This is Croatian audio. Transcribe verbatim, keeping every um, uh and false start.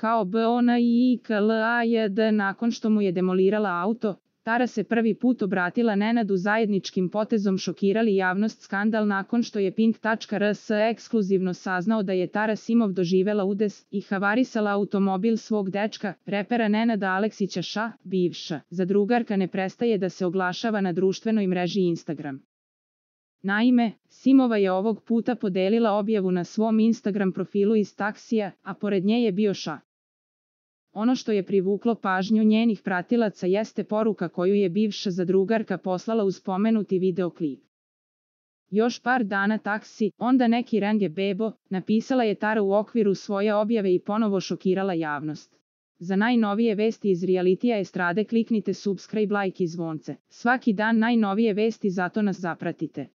kao B O N I K L A J D nakon što mu je demolirala auto. Tara se prvi put obratila Nenadu zajedničkim potezom šokirali javnost skandal nakon što je Pink tačka R S ekskluzivno saznao da je Tara Simov doživela udes i havarisala automobil svog dečka, repera Nenada Aleksića Ša, bivša zadrugarka ne prestaje da se oglašava na društvenoj mreži Instagram. Naime, Simova je ovog puta podelila objavu na svom Instagram profilu iz taksija, a pored nje je bio Ša. Ono što je privuklo pažnju njenih pratilaca jeste poruka koju je bivša zadrugarka poslala uz spomenuti videoklip. Još par dana taksi, onda neki renge bebo, napisala je Tara u okviru svoje objave i ponovo šokirala javnost. Za najnovije vesti iz realitija estrade kliknite subscribe, like i zvonce. Svaki dan najnovije vesti, zato nas zapratite.